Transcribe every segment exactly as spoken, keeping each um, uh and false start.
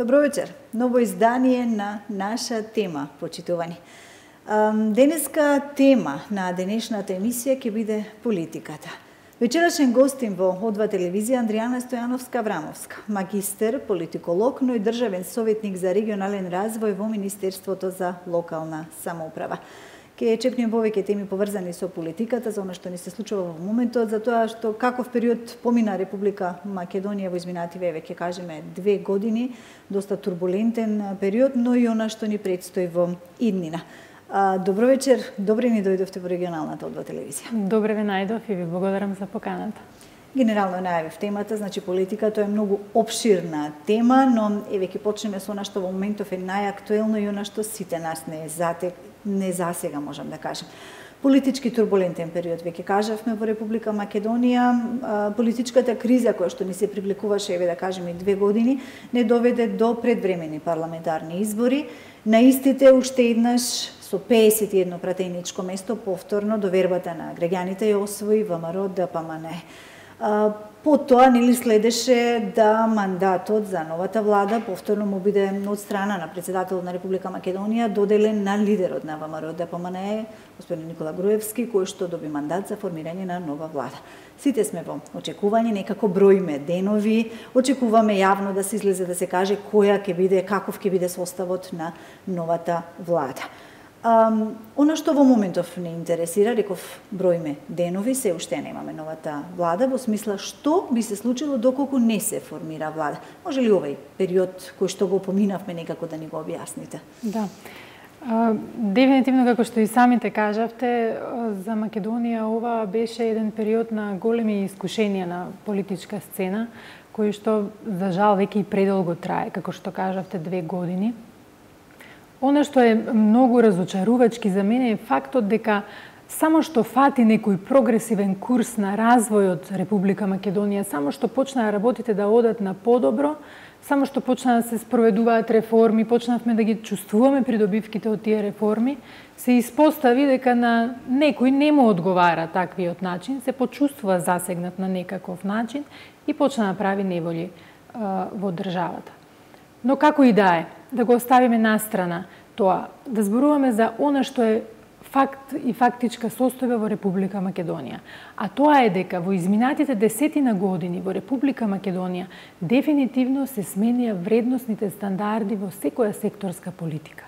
Добро вечер. Ново издание на наша тема, почитувани. Денеска тема на денешната емисија ќе биде политиката. Вечерашен гостин во О два телевизија Андријана Стојановска-Врамовска, магистер, политиколог, но и државен советник за регионален развој во Министерството за локална самоуправа. Ке чепнем повеќе теми поврзани со политиката, за она што ни се случува во моментот, за тоа што каков период помина Република Македонија во изминативе, веќе кажеме, две години, доста турбулентен период, но и она што ни предстои во иднина. Добро вечер, добре ни дојдовте во регионалната О два телевизија. Добре ве најдов и ви благодарам за поканата. Генерално најавив темата, значи политика, тоа е многу обширна тема, но еве ќе почнеме со она што во моментов е најактуелно и она што сите нас не затек, не засега, можам да кажем. Политички турбулентен период, веќе кажавме, во Република Македонија. Политичката криза која што ни се привлекуваше, еве да кажеме, две години, не доведе до предвремени парламентарни избори. На истите уште еднаш со песет и едно пратеничко место повторно довербата на граѓаните ја освои ВМРО Д П М Н. Потоа нели следеше да мандатот за новата влада повторно му биде од страна на председателот на Република Македонија доделен на лидерот на ВМРО Д П М Н, господин Никола Груевски, кој што доби мандат за формирање на нова влада. Сите сме во очекување, некако броиме денови, очекуваме јавно да се излезе да се каже која ќе биде, каков ќе биде составот на новата влада. Um, Оно што во моментов не интересира, реков, броиме денови, се уште немаме новата влада, во смисла што би се случило доколку не се формира влада. Може ли овој период кој што го поминавме некако да ни го објасните? Да. Uh, дефинитивно, како што и самите кажавте, за Македонија ова беше еден период на големи искушенија на политичка сцена, кој што, за жал, веќе и предолго трае, како што кажавте, две години. Оно што е многу разочарувачки за мене е фактот дека само што фати некој прогресивен курс на развојот Република Македонија, само што почнаа работите да одат на подобро, само што почнаа да се спроведуваат реформи, почнавме да ги чувствуваме придобивките од тие реформи, се испостави дека на некој не му одговара таквиот начин, се почувствува засегнат на некаков начин и почна да прави неволи а, во државата. Но како и да е, да го оставиме настрана тоа, да зборуваме за она што е факт и фактичка состојба во Република Македонија. А тоа е дека во изминатите десетина години во Република Македонија дефинитивно се сменија вредносните стандарди во секоја секторска политика.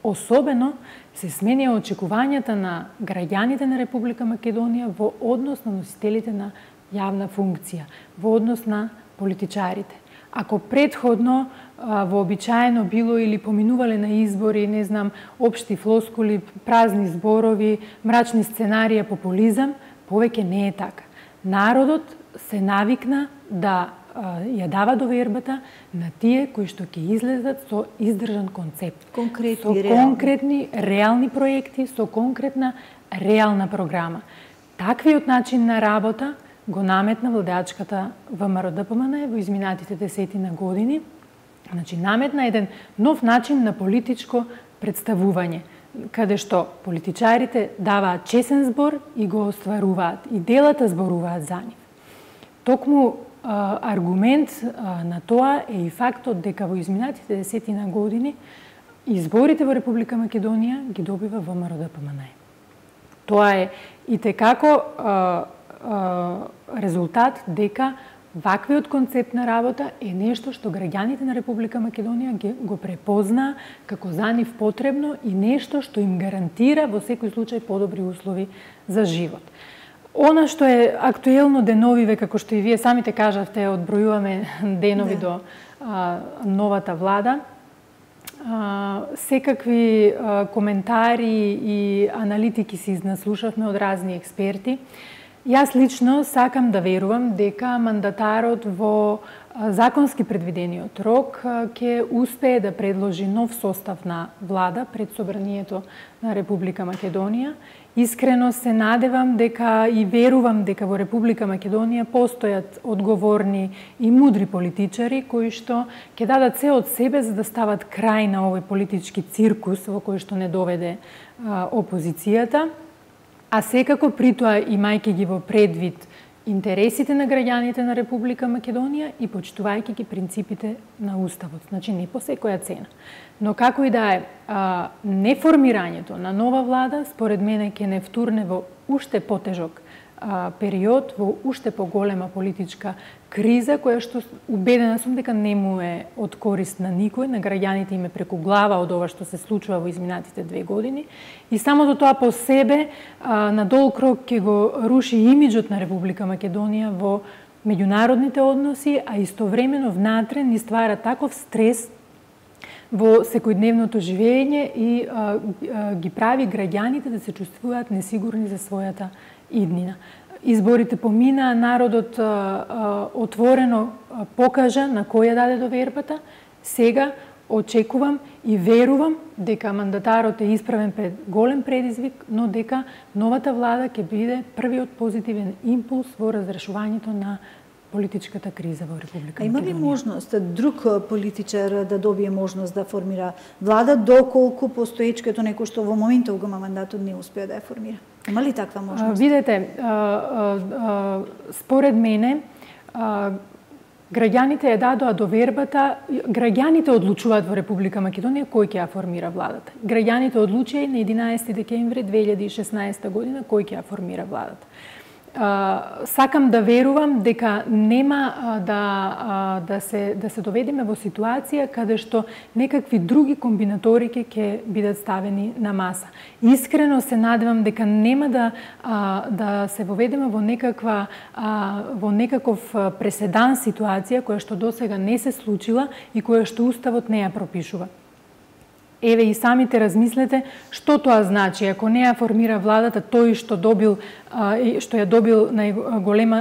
Особено се сменија очекувањата на граѓаните на Република Македонија во однос на носителите на јавна функција, во однос на политичарите. Ако предходно вообичаено било или поминувале на избори, не знам, општи флоскули, празни зборови, мрачни сценарија, популизам, повеќе не е така. Народот се навикна да ја дава довербата на тие кои што ќе излезат со издржан концепт. Конкретни, со реални. конкретни, реални проекти, со конкретна, реална програма. Таквиот начин на работа го наметна владеачката ВМРО Д П М Н во изминатите десетина години. Значи, наметна еден нов начин на политичко представување, каде што политичарите даваат чесен збор и го остваруваат, и делата зборуваат за нив. Токму а, аргумент а, на тоа е и фактот дека во изминатите десетина години изборите во Република Македонија ги добива ВМРО Д П М Н. Тоа е и текако а, резултат дека ваквиот концепт на работа е нешто што граѓаните на Република Македонија го препознаа како за нив потребно и нешто што им гарантира во секој случај подобри услови за живот. Она што е актуелно деновиве, како што и вие самите кажавте, одбројуваме денови да. до а, новата влада, а, секакви а, коментари и аналитики се изнаслушавме од разни експерти. Јас лично сакам да верувам дека мандатарот во законски предвидениот рок ќе успее да предложи нов состав на влада пред собранието на Република Македонија. Искрено се надевам дека и верувам дека во Република Македонија постојат одговорни и мудри политичари кои што ќе дадат се од себе за да стават крај на овој политички циркус во кој што не доведе а, опозицијата. А секако при тоа, имајќи ги во предвид интересите на граѓаните на Република Македонија и почитувајќи ги принципите на Уставот. Значи, не по секоја цена. Но како и да е, а, неформирањето на нова влада, според мене, ќе не втурне во уште потежок а, период, во уште поголема политичка криза, која што убедена сум дека не му е од корист на никој, на граѓаните им е преку глава од ова што се случува во изминатите две години. И самото тоа по себе а, на долг рок ќе го руши имиджот на Република Македонија во меѓународните односи, а истовремено внатре ни ствара таков стрес во секојдневното живење и а, а, ги прави граѓаните да се чувствуваат несигурни за својата иднина. Изборите поминаа, народот а, а, отворено а, покажа на кој ја даде довербата. Сега очекувам и верувам дека мандатарот е исправен пред голем предизвик, но дека новата влада ќе биде првиот позитивен импулс во разрешувањето на политичката криза во Република Македонија. Има ли можност друг политичар да добие можност да формира влада, доколку постоечкото некој што во моментот го има мандатот не успеа да ја формира? Има ли таква можност? А, видете, а, а, а, според мене, а, граѓаните ја дадоа довербата, граѓаните одлучуваат во Република Македонија кој ќе ја формира владата. Граѓаните одлучија и на единаесети декември две илјади и шеснаесета година кој ќе ја формира владата. Uh, сакам да верувам дека нема uh, да, uh, да, се, да се доведеме во ситуација каде што некакви други комбинаторики ќе бидат ставени на маса. Искрено се надевам дека нема да, uh, да се воведеме во некаква uh, во некаков преседан ситуација која што досега не се случила и која што Уставот не ја пропишува. Еве и самите размислете што тоа значи. Ако не ја формира владата, тој што добил што ја добил најголема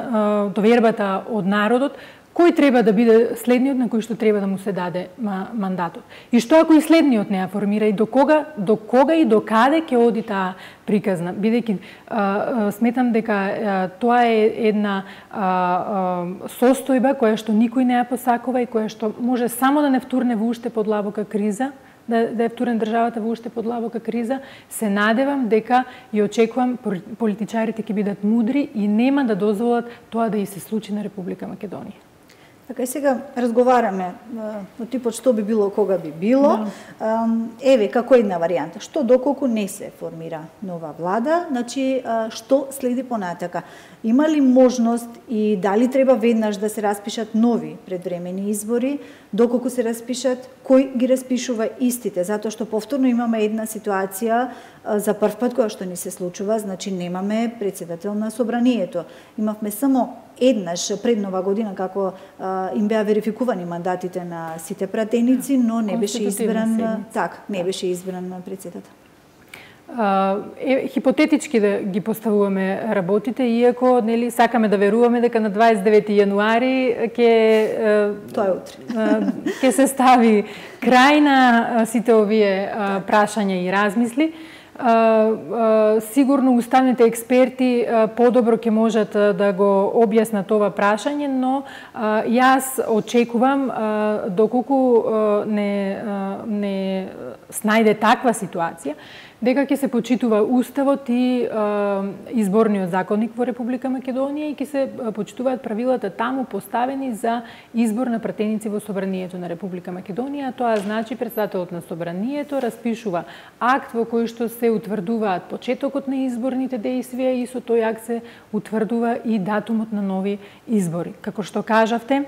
довербата од народот, кој треба да биде следниот на кој што треба да му се даде мандатот? И што ако и следниот не ја формира, и до кога, до кога и до каде ќе оди таа приказна? Бидејќи сметам дека тоа е една состојба која што никој не ја посакува и која што може само да не втурне во уште подлабока криза, да, да е втурен државата во уште подлабока криза. Се надевам дека и очекувам политичарите ќе бидат мудри и нема да дозволат тоа да и се случи на Република Македонија. Така и сега разговараме од типот што би било, кога би било. Да. Еве, како една варијанта. Што доколку не се формира нова влада, значи што следи понатака? Има ли можност и дали треба веднаш да се распишат нови предвремени избори? Доколку се распишат, кој ги распишува истите? Затоа што повторно имаме една ситуација за прв пат која што ни се случува, значи немаме председател на собранието. Имавме само еднаш пред нова година како а, им беа верификувани мандатите на сите пратеници, но не беше избран так, не беше избран председател. Uh, е, хипотетички да ги поставуваме работите, иако нели сакаме да веруваме дека на дваесет и девети јануари ќе тоа е утре. Ќе се стави крај на сите овие uh, прашања и размисли. Uh, uh, сигурно уставните експерти uh, подобро ќе можат uh, да го објаснат ова прашање, но uh, јас очекувам uh, доколку uh, не, uh, не снајде таква ситуација, дека ќе се почитува Уставот и е, изборниот законник во Република Македонија и ќе се почитуваат правилата таму поставени за избор на пратеници во собранието на Република Македонија. Тоа значи председателот на собранието распишува акт во кој што се утврдуваат почетокот на изборните дејствија и со тој акт се утврдува и датумот на нови избори. Како што кажавте,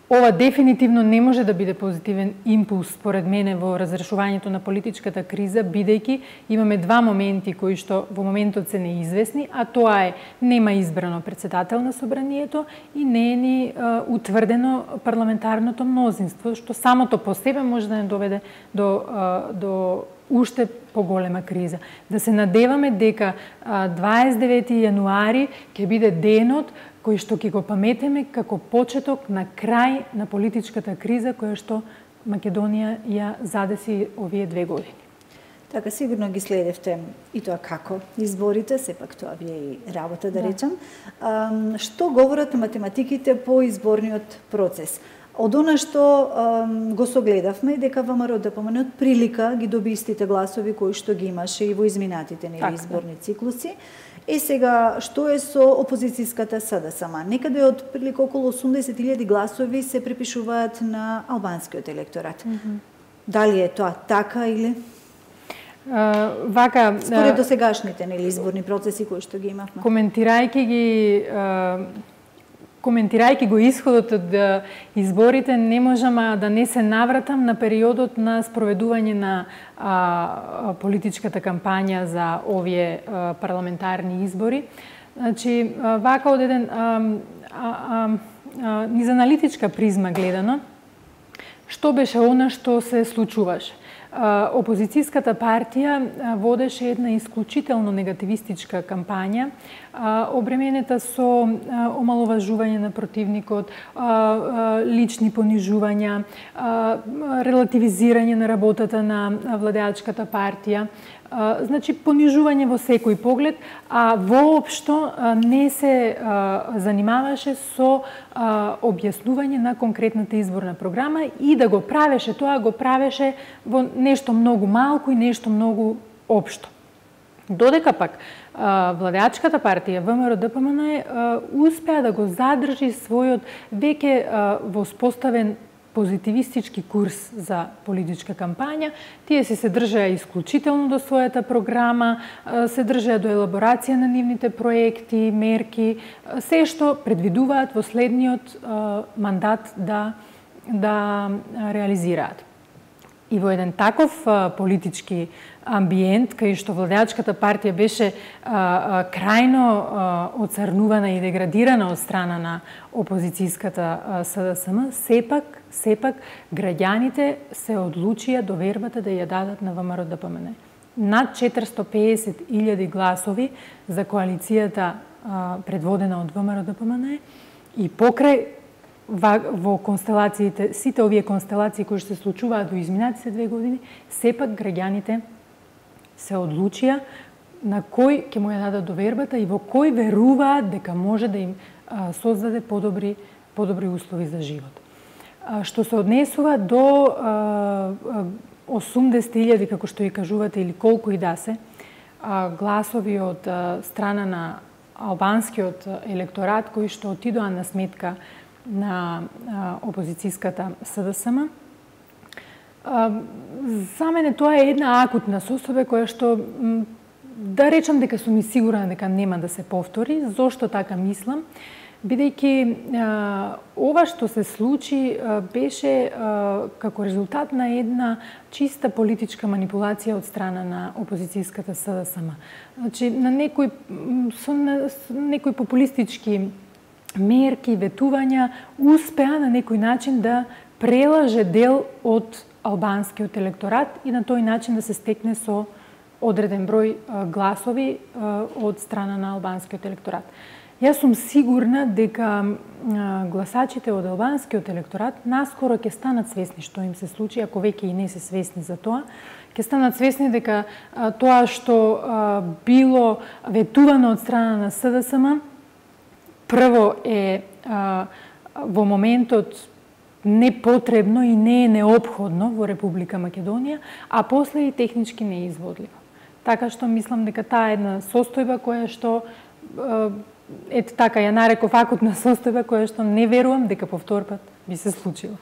ова дефинитивно не може да биде позитивен импулс, според мене, во разрешувањето на политичката криза, бидејќи имаме два моменти кои што во моментот се неизвестни, а тоа е нема избрано председател на собранието и не е ни а, утврдено парламентарното мнозинство, што самото по себе може да не доведе до, а, до уште поголема криза. Да се надеваме дека а, дваесет и девети јануари ќе биде денот кој што ќе го паметеме како почеток на крај на политичката криза која што Македонија ја задеси овие две години. Така, сигурно ги следевте и тоа како изборите, сепак тоа ви е и работа, да, да. речам. А, што говорат математиките по изборниот процес? Од она што um, го согледавме дека ВМРО Д П М Н од прилика ги доби истите гласови кои што ги имаше и во изминатите нели изборни циклуси. Е сега, што е со опозицијската С Д С М? Некаде од прилика околу осумдесет илјади гласови се припишуваат на албанскиот електорат. Mm -hmm. Дали е тоа така или? Uh, вака, според досегашните нели изборни процеси кои што ги имавме. Коментирајќи ги uh, коментирајќи го исходот од изборите, не можам да не се навратам на периодот на спроведување на а, политичката кампања за овие а, парламентарни избори. Значи, а, вака од еден а, а, а, низ аналитичка призма гледано, што беше она што се случуваше? Опозицијската партија водеше една исклучително негативистичка кампања, обременета со омаловажување на противникот, лични понижувања, релативизирање на работата на владеачката партија, значи понижување во секој поглед, а воопшто не се занимаваше со објаснување на конкретната изборна програма и да го правеше тоа, го правеше во нешто многу малку и нешто многу општо. Додека пак владеачката партија ВМРО Д П М Н успеа да го задржи својот веќе воспоставен позитивистички курс за политичка кампања. Тие се се држаја исклучително до својата програма, се држаја до елаборација на нивните проекти, мерки, се што предвидуваат во следниот мандат да да реализираат. И во еден таков политички амбиент, кај што владеачката партија беше а, а, крајно а, оцрнувана и деградирана од страна на опозицијската С Д С М, сепак, сепак граѓаните се одлучија до вербата да ја дадат на ВМРО Д П М Н. Над четиристо пеесет илјади гласови за коалицијата а, предводена од ВМРО Д П М Н и покрај во констелациите, сите овие констелации кои што се случуваат во изминатите две години, сепак граѓаните се одлучија на кој ќе му ја дадат довербата и во кој веруваат дека може да им а, создаде подобри, подобри услови за живот. А, што се однесува до а, осумдесет илјади, како што и кажувате, или колку и да се, а, гласови од а, страна на албанскиот електорат, кои што отидоа на сметка на а, опозицијската С Д С М. А, за мене тоа е една акутна состојба која што, да речам дека сум и сигурна дека нема да се повтори. Зошто така мислам? Бидејќи а, ова што се случи а, беше а, како резултат на една чиста политичка манипулација од страна на опозицијската С Д С М. Значи, на некои, со, на, некои популистички мерки, ветувања, успеа на некој начин да прелаже дел од албанскиот електорат и на тој начин да се стекне со одреден број гласови од страна на албанскиот електорат. Јас сум сигурна дека гласачите од албанскиот електорат наскоро ќе станат свесни што им се случи, ако веќе и не се свесни за тоа, ќе станат свесни дека тоа што било ветувано од страна на С Д С М прво е а, во моментот непотребно и не е неопходно во Република Македонија, а после и технички неизводливо. Така што мислам дека таа е една состојба која што ете така ја нареков акутна состојба која што не верувам дека повторпат би се случила.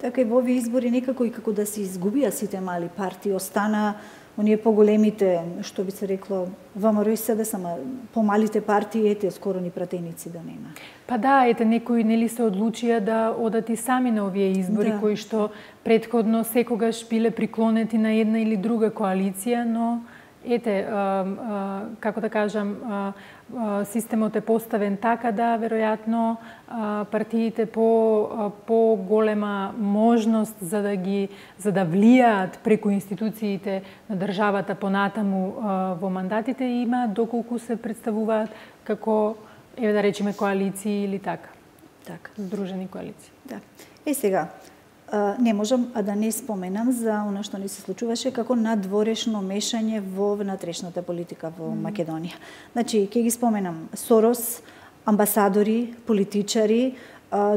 Така и во овие избори некако и како да се изгубија сите мали партии, остана оние поголемите, што би се рекло, ВМРО и С Д С М, помалите партии, ете, скоро ни пратеници да нема. Па да, ете, некои нели се одлучија да одат и сами на овие избори, да, кои што претходно секогаш биле приклонети на една или друга коалиција, но ете, а, а, како да кажам, а, а, системот е поставен така да веројатно а, партиите по а, по голема можност за да ги за да влијаат преку институциите на државата понатаму а, во мандатите има доколку се представуваат како, еве да речеме, коалиции или така. Така, здружени коалиции. Да. Е сега, не можам а да не споменам за она што ни се случуваше како надворешно мешање во внатрешната политика во mm. Македонија. Значи, ќе ги споменам Сорос, амбасадори, политичари,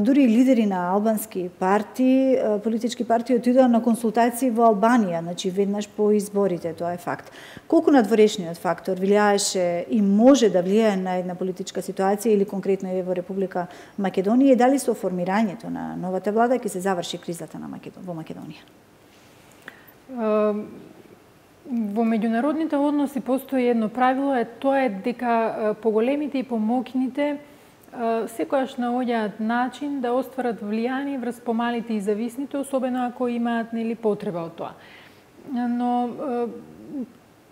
дури лидери на албански партии, политички партии отидоа на консултации во Албанија, значи веднаш по изборите, тоа е факт. Колку надворешниот фактор влијаеше и може да влијае на една политичка ситуација или конкретно е во Република Македонија и дали со формирањето на новата влада ќе се заврши кризата на Македон... во Македонија? Uh... Во меѓународните односи постои едно правило, е тоа е дека поголемите и помоќните секојаш наоѓаат начин да остварат влијание врз помалите и зависните, особено ако имаат нели потреба од тоа. Но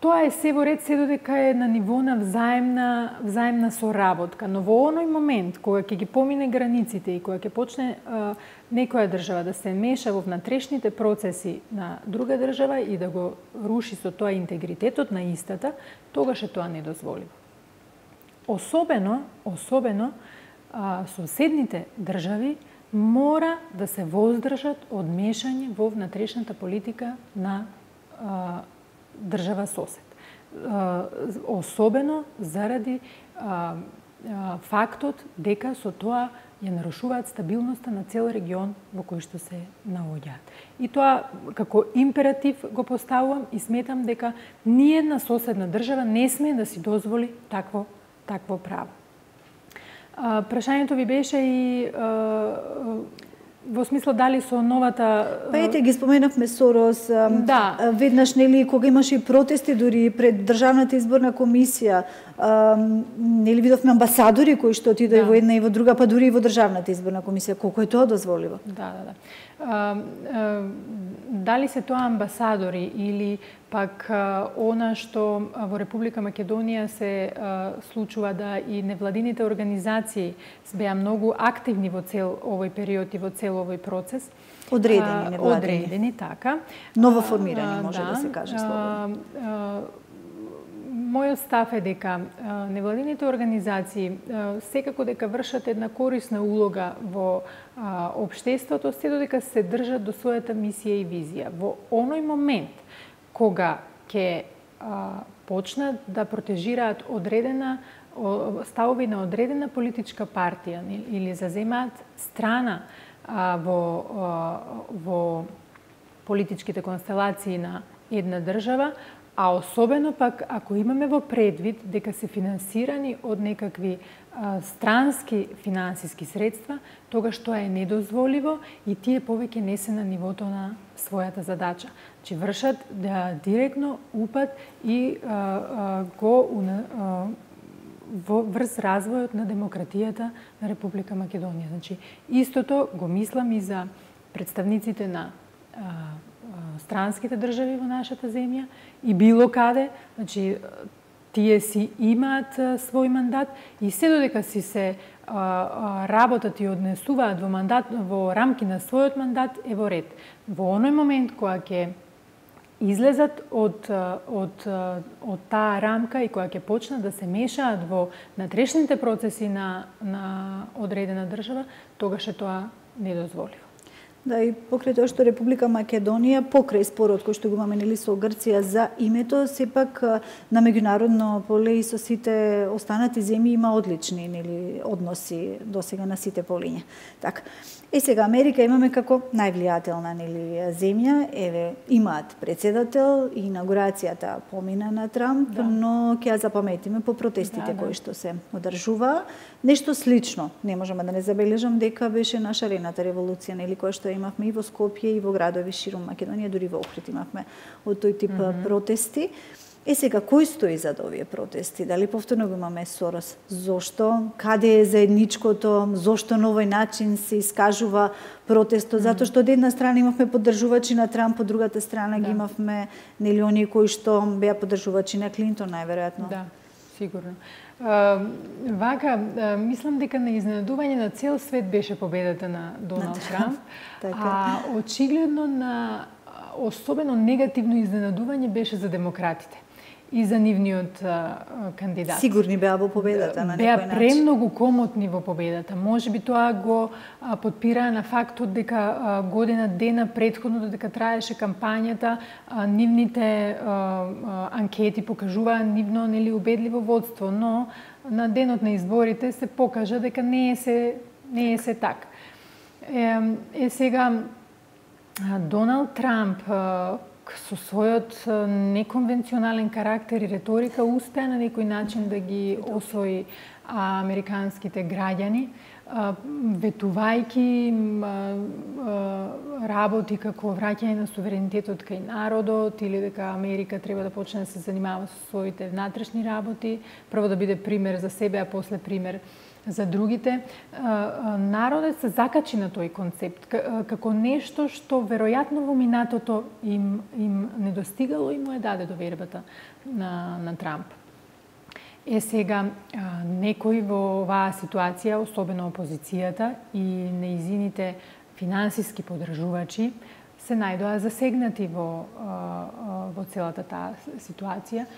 тоа е се во ред се додека е на ниво на взаемна взаемна соработка, но во оној момент кога ќе ги помине границите и кога ќе почне а, некоја држава да се меша во внатрешните процеси на друга држава и да го руши со тоа интегритетот на истата, тогаш е тоа недозволиво. Особено, особено а, соседните држави мора да се воздржат од мешање во внатрешната политика на а, држава сосед. Особено заради а, а, фактот дека со тоа ја нарушуваат стабилноста на цел регион во кој што се наоѓаат. И тоа како императив го поставувам и сметам дека ниедна соседна држава не смее да си дозволи такво такво право. А, прашањето ви беше и а, во смисло дали со новата... Па ете, ги споменавме Сорос, да. Веднаш, нели, кога имаше и протести дури пред Државната изборна комисија, нели видовме амбасадори кои што отидоа да. во една и во друга, па дури и во Државната изборна комисија. Колку е тоа дозволиво? Да, да, да. А, а, дали се тоа амбасадори или пак а, она што во Република Македонија се а, случува да и невладините организации беа многу активни во цел овој период и во цел овој процес. Одредени, невладени. Одредени, така. Ново формирани, може да, да се каже слово. Мојот став е дека невладините организации секако дека вршат една корисна улога во општеството, се додека се држат до својата мисија и визија. Во оној момент кога ќе почнат да протежираат одредена ставови на одредена политичка партија или заземаат страна во во политичките констелации на една држава, а особено пак ако имаме во предвид дека се финансирани од некакви а, странски финансиски средства, тогаш тоа е недозволиво и тие повеќе не се на нивото на својата задача. Че вршат да, директно упад и а, а, го а, во врз развојот на демократијата на Република Македонија. Значи, истото го мислам и за представниците на а, странските држави во нашата земја и било каде, значи тие си имаат свој мандат и се додека си се а, а, работат и однесуваат во мандат во рамки на својот мандат е во ред. Во оној момент кога ќе излезат од од од таа рамка и кога ќе почнат да се мешаат во внатрешните процеси на на одредена држава, тогаш е тоа недозволиво. Да, и покрај тоа што Република Македонија, покрај спорот кој што го имаме нели со Грција за името, сепак на меѓународно поле и со сите останати земји има одлични нели односи досега на сите полиња. Така. Е сега Америка имаме како највлијателна нели земја, еве имаат председател и инаугурацијата помина на Трамп, да. Но ќе ја запаметиме по протестите да, да. кои што се одржува. Нешто слично, не можеме да не забележам дека беше наша арената револуција, нели која што имавме и во Скопје и во градови ширум Македонија, дури во Охрид имавме од тој тип mm -hmm. протести. Е сега, кој стои зад овие протести? Дали повторно го имаме Сорос? Зошто? Каде е заедничкото? Зошто на овој начин се искажува протестот? Mm. Затоа што од една страна имавме поддржувачи на Трамп, од другата страна да. ги имавме нели оние кои што беа поддржувачи на Клинтон, најверојатно. Да, сигурно. Uh, вака, uh, мислам дека на изненадување на цел свет беше победата на Доналд Трамп, така. А очигледно на особено негативно изненадување беше за демократите и за нивниот а, кандидат. Сигурни беа во победата на некој начин. Беа премногу комотни во победата. Можеби тоа го а, подпираа на фактот дека а, година дена претходно додека траеше кампањата, а, нивните а, а, анкети покажуваа нивно нели убедливо водство, но на денот на изборите се покажа дека не е се Не е се така. Е, е сега Доналд Трамп со својот неконвенционален карактер и риторика успеа на некој начин да ги освои американските граѓани, ветувајќи работи како враќање на суверенитетот кај народот или дека Америка треба да почне да се занимава со своите внатрешни работи, прво да биде пример за себе, а после пример за другите. Народот се закачи на тој концепт како нешто што веројатно во минатото им им недостигало и му е даде довербата на на Трамп. Е сега некои во оваа ситуација, особено опозицијата и неизините финансиски поддржувачи се најдоа засегнати во во целата таа ситуација.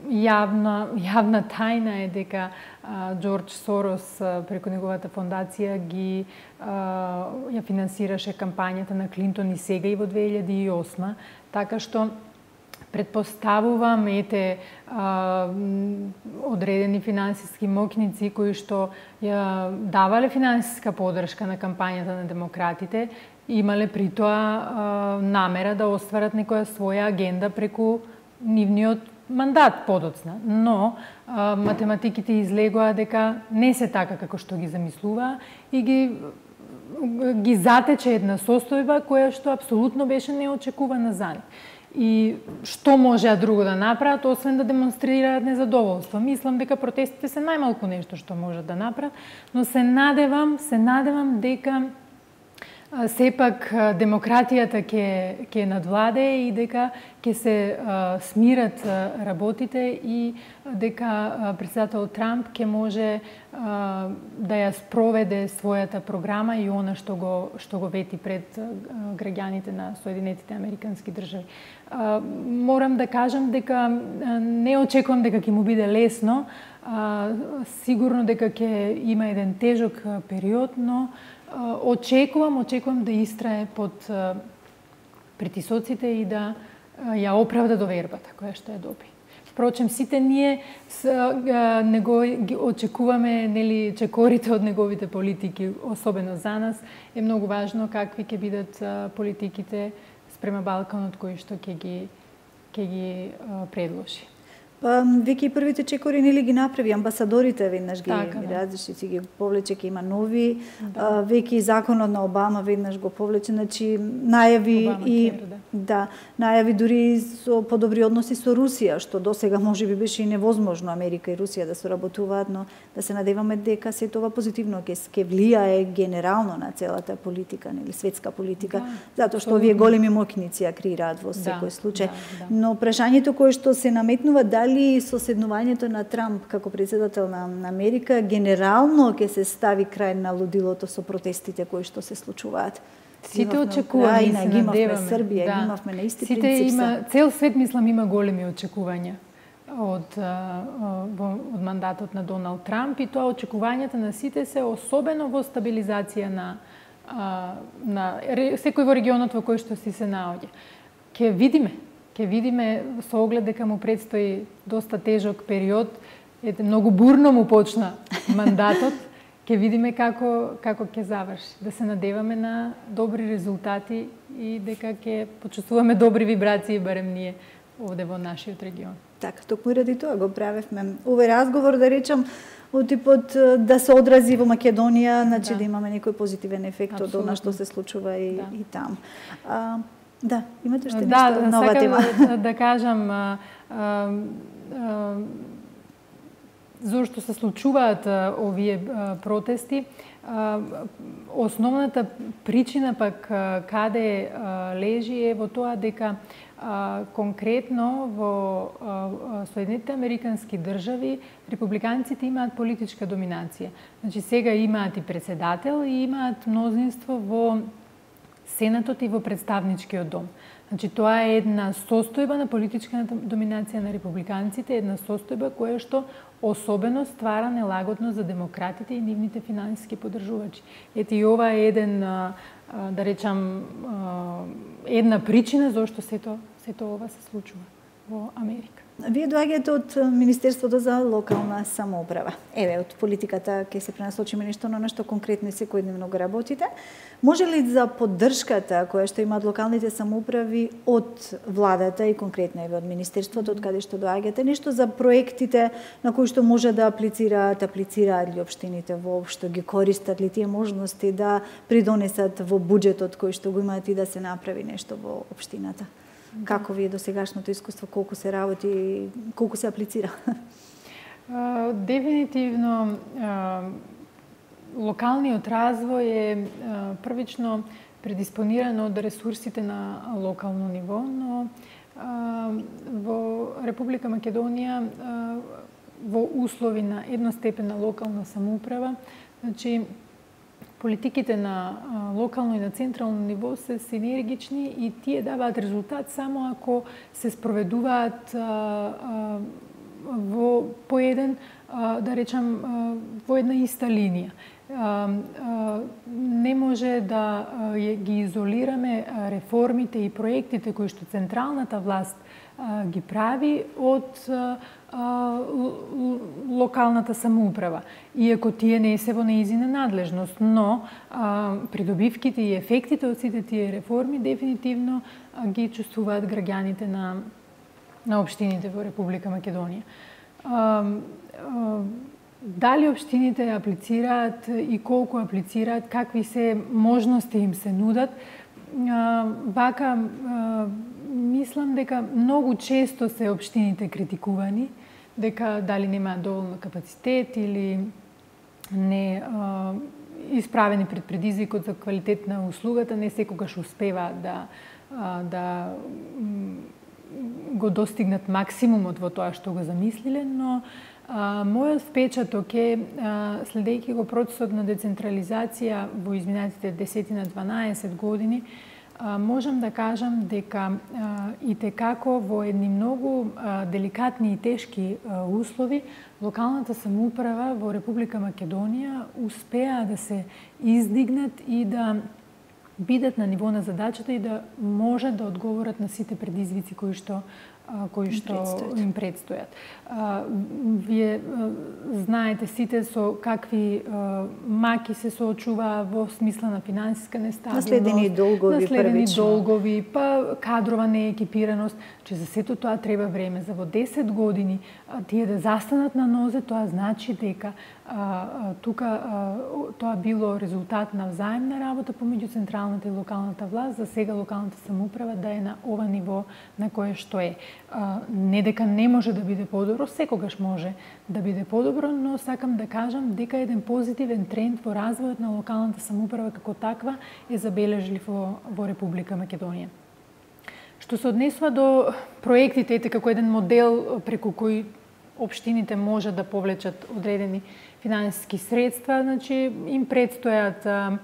Јавна, јавна тајна е дека Џорџ Сорос преку неговата фондација ги ја финансираше кампањата на Клинтон и сега и во две илјади и осма, така што претпоставувам ете а, одредени финансиски моќници кои што ја давале финансиска поддршка на кампањата на демократите, имале притоа а, намера да остварат некоја своја агенда преку нивниот мандат подоцна. Но а, математиките излегоа дека не се така како што ги замислуваа и ги ги затече една состојба која што апсолутно беше неочекувана за нив. И што можеа друго да направат, освен да демонстрираат незадоволство. Мислам дека протестите се најмалку нешто што можат да направат, но се надевам, се надевам дека сепак демократијата ќе ќе надвладее и дека ќе се а, смират работите и дека претседател Трамп ќе може а, да ја спроведе својата програма и она што го што го вети пред а, граѓаните на Соединетите Американски држави. А, морам да кажам дека а, не очекувам дека ќе му биде лесно, а, сигурно дека ќе има еден тежок период, но очекувам, очекувам да истрае под притисоците и да ја оправда довербата која што ја доби. Впрочем, сите ние не го очекуваме, нели, чекорите од неговите политики, особено за нас е многу важно какви ќе бидат политиките спрема Балканот кои што ќе ги ќе ги предложи. Па веќе и првите чекори нели ги направи амбасадорите, веднаш ги разреши, си ги повлече, ќе има нови, да. Веќе и законот на Обама веднаш го повлече, значи најави Обама и кер, да. да, најави дури со подобри односи со Русија, што досега можеби беше и невозможно Америка и Русија да соработуваат, но да се надеваме дека се тоа позитивно ќе ќе влијае генерално на целата политика, нели светска политика, да, затоа што овие големи моќници ја креираат во секој да, случај. Да, да. Но прашањето кое што се наметнува, дали соседнувањето на Трамп како председател на Америка генерално ќе се стави крај на лудилото со протестите кои што се случуваат. Сите очекуваме, и се надеваме. Србија, да. Имавме на исти Сите принцип. Има, цел свет, мислам, има големи очекувања од, од мандатот на Доналд Трамп и тоа очекувањата на сите се особено во стабилизација на, на секој во регионот во кој што си се наоѓа. Ке видиме, Ке видиме со оглед дека му предстои доста тежок период, ете многу бурно му почна мандатот, ке видиме како како ќе заврши. Да се надеваме на добри резултати и дека ќе почувствуваме добри вибрации барем ние овде во нашиот регион. Така, токму ради тоа го правевме овој разговор, да речам, од типот да се одрази во Македонија, значи да, да имаме некој позитивен ефект од она што се случува и, да. и там. А, Да, имате уште да, нешто нова тема? Да, да кажам, а, а, а, зошто се случуваат а, овие а, протести, а, основната причина пак а, каде а, лежи е во тоа дека а, конкретно во а, Соединетите Американски држави републиканците имаат политичка доминација. Значи сега имаат и председател и имаат мнозинство во Сенатот и во представничкиот дом. Значи тоа е една состојба на политичката доминација на републиканците, една состојба која што особено ствара нелагодно за демократите и нивните финансиски поддржувачи. Ете и ова е еден, да речам, една причина зашто сето сето ова се случува во Америка. Вие доаѓате од Министерството за локална самоуправа. Еве, од политиката ќе се пренасочиме нешто на нешто конкретно и секојдневно го работите. Може ли за поддршката која што имаат локалните самоуправи од владата и конкретно еве од Министерството, од каде што доаѓате, нешто за проектите на кои што може да аплицираат, аплицираат ли општините воопшто, ги користат ли тие можности да придонесат во буџетот кој што го имаат и да се направи нешто во општината? Како ви е досегашното искуство, колку се работи, колку се аплицира? Дефинитивно, локалниот развој е првично предиспониран од ресурсите на локално ниво, но во Република Македонија во услови на едностепена локална самоуправа, значи политиките на локално и на централно ниво се синергични и тие даваат резултат само ако се спроведуваат во по еден, да речам, во една иста линија. Не може да ги изолираме реформите и проектите кои што централната власт ги прави од локалната самоуправа, иако тие не се во неизина надлежност, но а, придобивките и ефектите од сите тие реформи дефинитивно а, ги чувствуваат граѓаните на, на општините во Република Македонија. А, а, дали општините аплицираат и колку аплицираат, какви се можности им се нудат, а, вака а, мислам дека многу често се општините критикувани, дека дали немаат доволно капацитет или не а, исправени пред предизвикот за квалитет на услугата, не секогаш успеваат да, а, да го достигнат максимумот во тоа што го замислиле, но а, мојот впечаток е, а, следејќи го процесот на децентрализација во изминатите десетина дванаесет години, можам да кажам дека и текако во едни многу деликатни и тешки услови локалната самоуправа во Република Македонија успеа да се издигнат и да бидат на ниво на задачата и да можат да одговорат на сите предизвици кои што кои што им предстојат. Вие знаете сите со какви маки се соочуваа во смисла на финансиска нестабилност, наследени долгови, наследени долгови, па кадрова неекипираност, че за сето тоа треба време. За во десет години тие да застанат на нозе, тоа значи дека тука тоа било резултат на взаемна работа помеѓу централната и локалната власт. За сега локалната самоуправа да е на ова ниво на кое што е. Не дека не може да биде подобро, секогаш може да биде подобро, но сакам да кажам дека еден позитивен тренд во развојот на локалната самоуправа како таква е забележлив во, во Република Македонија. Што се однесува до проектите, ете како еден модел преку кој општините може да повлечат одредени финансиски средства, значи им предстојат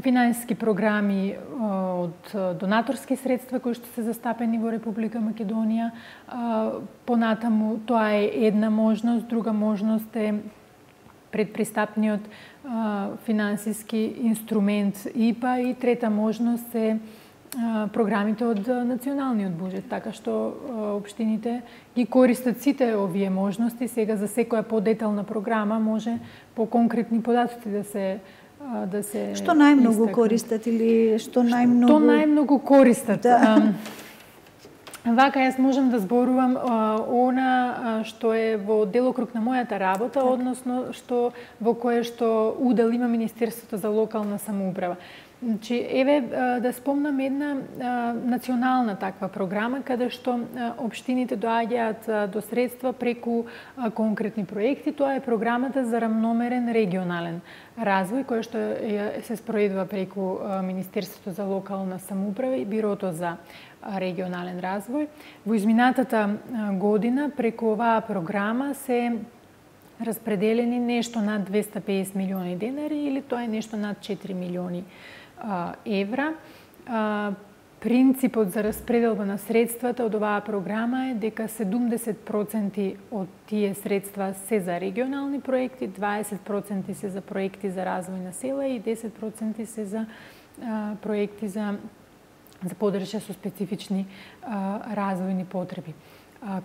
финансиски програми од донаторски средства кои што се застапени во Република Македонија. Понатаму тоа е една можност, друга можност е предпристапниот финансиски инструмент И П А и трета можност е програмите од националниот буџет, така што општините ги користат сите овие можности. Сега за секоја подетална програма може по конкретни податоци да се да се Што најмногу истакнат. Користат или што најмногу Што најмногу користат? Да. Вака јас можам да зборувам она што е во делокруг на мојата работа, так. Односно што во кое што удел има Министерството за локална самоуправа. Значи, еве да спомнам една национална таква програма каде што општините доаѓаат до средства преку конкретни проекти. Тоа е програмата за рамномерен регионален развој, која што се спроведува преку Министерството за локална самоуправа и Бирото за регионален развој. Во изминатата година преку оваа програма се распределени нешто над двесте и педесет милиони денари или тоа е нешто над четири милиони евра. Принципот за распределба на средствата од оваа програма е дека седумдесет проценти од тие средства се за регионални проекти, дваесет проценти се за проекти за развој на села и десет проценти се за проекти за за поддршка со специфични развојни потреби.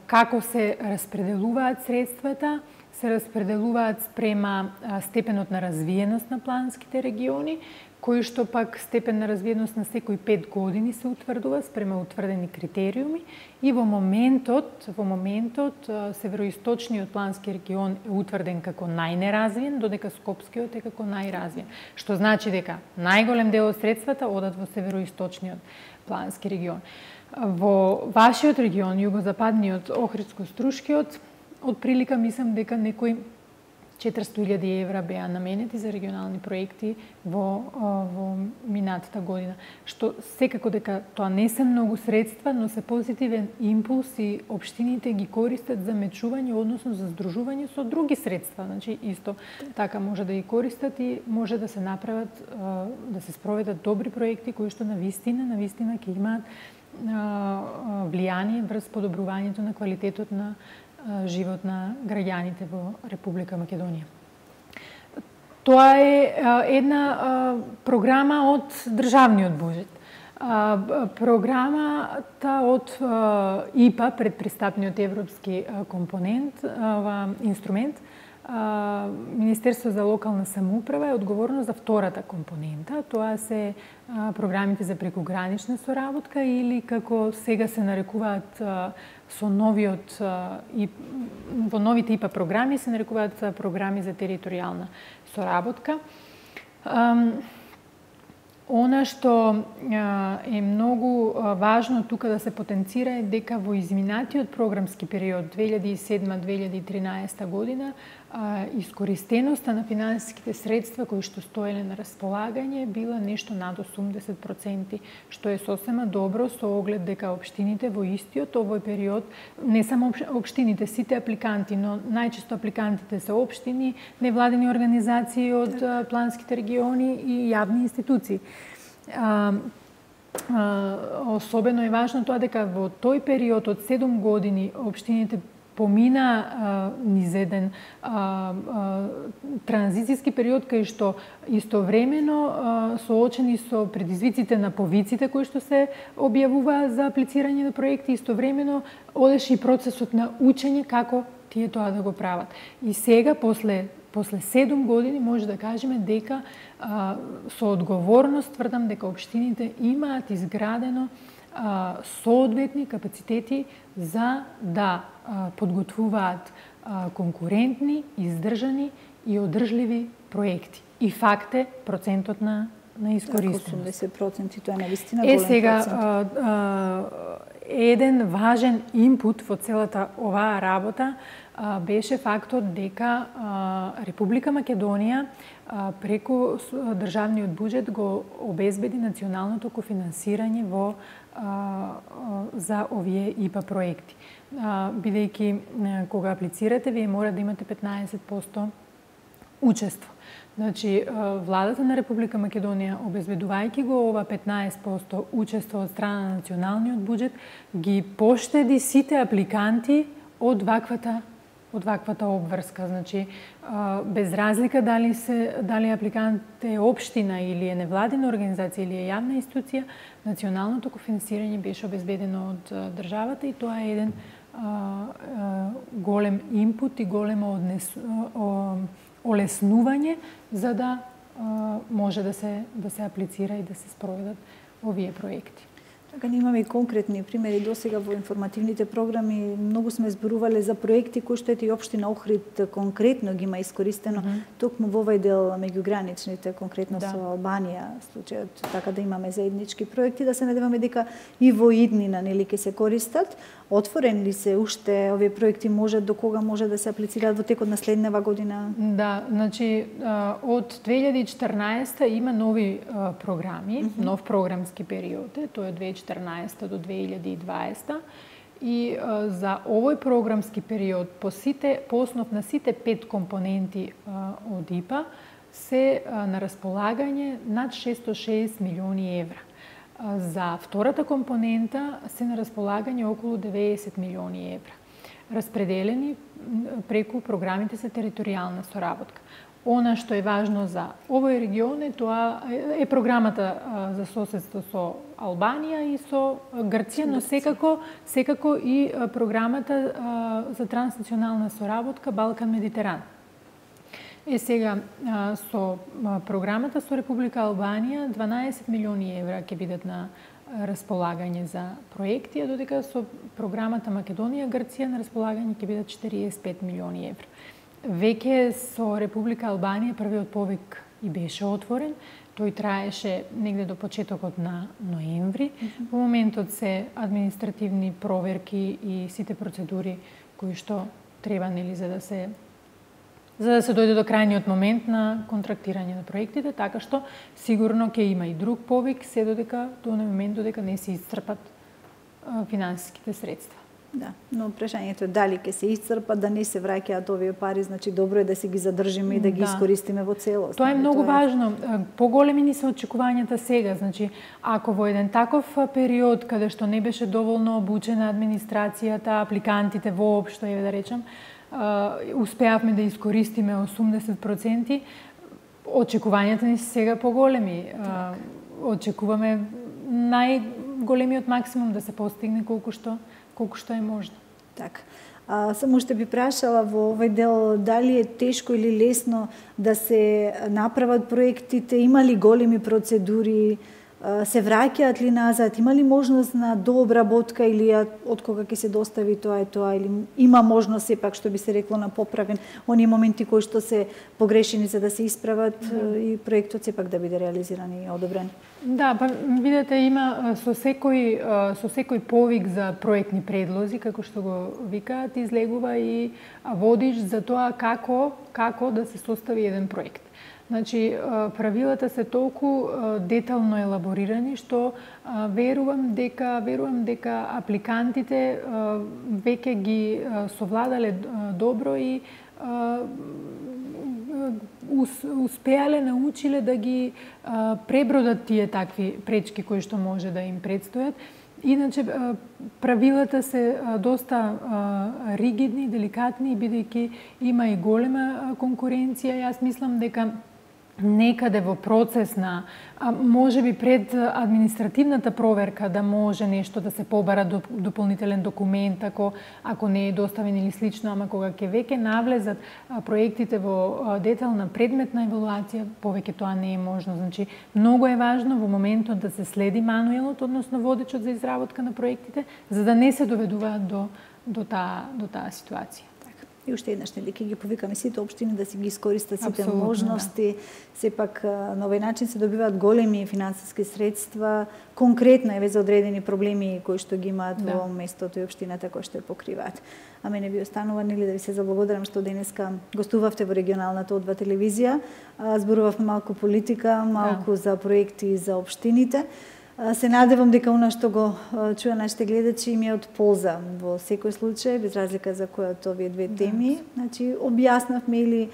Како се распределуваат средствата? Се распределуваат спрема степенот на развиеност на планските региони, кој што пак степен на развиеност на секои пет години се утврдува спрема утврдени критериуми и во моментот, во моментот североисточниот плански регион е утврден како најнеразвиен, додека Скопскиот е како најразвиен, што значи дека најголем дел од средствата одат во североисточниот плански регион. Во вашиот регион, југозападниот, Охридско-Струшкиот, од прилика мислам дека некои четиристотини илјади евра беа наменети за регионални проекти во, во минатата година, што секако дека тоа не се многу средства, но се позитивен импулс и општините ги користат за мечување, односно за здружување со други средства. Значи, исто така може да ги користат и може да се направат, да се спроведат добри проекти кои што на вистина, на вистина ќе имаат влијание врз подобрувањето на квалитетот на живот на граѓаните во Република Македонија. Тоа е една програма од државниот буџет. Програмата од И П А, предпристапниот европски компонент, инструмент, Министерство за локална самоуправа е одговорно за втората компонента. Тоа се програмите за прекугранична соработка или како сега се нарекуваат со новиот и во новите И П А програми се нарекуваат програми за територијална соработка. Она што е многу важно тука да се потенцира е дека во изминатиот програмски период две илјади и седма - две илјади и тринаесета година искористеноста на финансиските средства кои што стоеле на располагање била нешто над осумдесет проценти, што е сосема добро со оглед дека општините во истиот овој период, не само општините, сите апликанти, но најчесто апликантите се општини, невладени организации од планските региони и јавни институции. А, а, особено е важно тоа дека во тој период од седум години општините помина а, низ еден а, а, транзицијски период кај што истовремено а, соочени со предизвиците на повиците кои што се објавува за аплицирање на проекти, истовремено одеше и процесот на учење како тие тоа да го прават. И сега после После седум години може да кажеме дека а, со одговорност тврдам дека општините имаат изградено а, соодветни капацитети за да а, подготвуваат а, конкурентни, издржани и одржливи проекти. И факт е процентот на на искористеност. осумдесет проценти, тоа е навистина голем процент. Е сега а, а, еден важен инпут во целата оваа работа а, беше фактот дека а, Република Македонија а, преку државниот буџет го обезбеди националното кофинансирање во а, а, за овие И П А проекти. А, бидејќи а, кога аплицирате, вие мора да имате петнаесет проценти учество. Значи, владата на Република Македонија, обезбедувајќи го ова петнаесет проценти учество од страна на националниот буџет, ги поштеди сите апликанти од ваквата од ваквата обврска. Значи, без разлика дали се дали апликант е општина или е невладина организација или е јавна институција, националното кофинансирање беше обезбедено од државата и тоа е еден а, а, голем инпут и големо однес, о, олеснување за да а, може да се да се аплицира и да се спроведат овие проекти. Така имаме и конкретни примери досега во информативните програми. Многу сме зборувале за проекти кои што ете и општина Охрид конкретно ги има искористено, mm -hmm. токму во овој дел меѓуграничните, конкретно да. Со Албанија, случајот, така да имаме заеднички проекти, да се надеваме дека и во иднина нели ќе се користат. Отворени ли се уште овие проекти, може до кога може да се аплицираат во текот на следнава година? Да, значи од две илјади и четрнаесета има нови програми, mm -hmm. нов програмски период, тоа е две илјади и четрнаесета до две илјади и дваесета и а, за овој програмски период по сите по основ на сите пет компоненти а, од И П А се а, на располагање над шесто и шеесет милиони евра. А, за втората компонента се на располагање околу деветдесет милиони евра, распределени преку програмите за територијална соработка. Она што е важно за овој регион е тоа е програмата за соседство со Албанија и со Грција, но секако секако и програмата за транснационална соработка Балкан-Медитеран. Е сега со програмата со Република Албанија дванаесет милиони евра ќе бидат на располагање за проекти, а додека со програмата Македонија-Грција на располагање ќе бидат четириесет и пет милиони евра. Веќе со Република Албанија првиот повик и беше отворен. Тој траеше негде до почетокот на ноември. Mm-hmm. Во моментот се административни проверки и сите процедури кои што треба, нели, за да се за да се дојде до крајниот момент на контрактирање на проектите, така што сигурно ќе има и друг повик, се додека до оној момент додека не се исцрпат финансиските средства. Да, но прашањето е дали ќе се исцрпат, да не се враќаат овие пари, значи добро е да си ги задржиме и да ги да. искористиме во целост. Тоа е многу тоа е важно. Поголеми ни се очекувањата сега, значи ако во еден таков период каде што не беше доволно обучена администрацијата, апликантите воопшто, еве да речам, успеавме да искористиме осумдесет проценти, очекувањата ни се сега поголеми. Так. Очекуваме најголемиот максимум да се постигне колку што колку што е можно. Така. А, само ще би прашала во овој дел дали е тешко или лесно да се направат проектите, има ли големи процедури, се враќаат ли назад, има ли можност на дообработка или од кога ќе се достави тоа и тоа, или има можност сепак што би се рекло на поправен оние моменти кои што се погрешени за да се исправат mm. и проектот сепак да биде реализиран и одобрен? Да, па видете, има со секој со секој повик за проектни предлози, како што го викаат, излегува и водиш за тоа како како да се состави еден проект. Значи, правилата се толку детално елаборирани што верувам дека верувам дека апликантите веќе ги совладале добро и успеале, научиле да ги пребродат тие такви пречки кои што може да им предстојат. Иначе правилата се доста ригидни, деликатни, бидејќи има и голема конкуренција. Јас мислам дека некаде во процес на, може би пред административната проверка, да може нешто да се побара дополнителен документ, ако, ако не е доставен или слично, ама кога ќе веќе навлезат проектите во детална предметна евалуација, повеќе тоа не е можно. Значи, многу е важно во моментот да се следи мануелот, односно водечот за изработка на проектите, за да не се доведуваат до, до, таа, до таа ситуација. И уште еднаш, нели, ќе ги повикаме сите општини да си ги искористат сите Абсолютно, можности. Да. Сепак на овој начин се добиваат големи финансиски средства, конкретно еве за одредени проблеми кои што ги имаат да. во местото и општината кои што ја покриваат. А мене би останува, нели, да ви се заблагодарам што денеска гостувавте во регионалната О два телевизија, зборувавме малку политика, малку да. за проекти за општините. Се надевам дека она што го чуја нашите гледачи им е од полза во секој случај, без разлика за која од овие две теми. Да. Значи, објаснавме или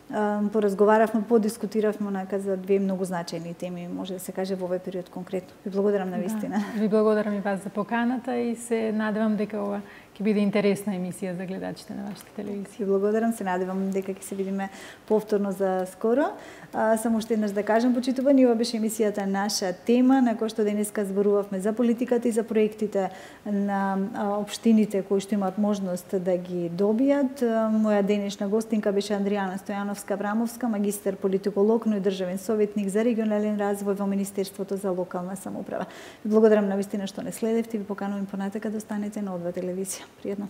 поразговаравме, подискутиравме онака за две многу значајни теми, може да се каже во овој период конкретно. Ви благодарам на вистина. Да. Ви благодарам и вас за поканата и се надевам дека ова ќе биде интересна емисија за гледачите на вашата телевизија. Ви благодарам, се надевам дека ќе се видиме повторно за скоро. А, само уште еднаш да кажам, почитувани, ова беше емисијата Наша тема, на која што денеска зборувавме за политиката и за проектите на општините кои што имаат можност да ги добијат. Моја денешна гостинка беше Андријана Стојановска-Аврамовска, магистар политиколог, но и државен советник за регионален развој во Министерството за локална самоуправа. Ви благодарам на вистина што не следевте и ви поканувам понатака да останете на О два телевизија. Пријатно.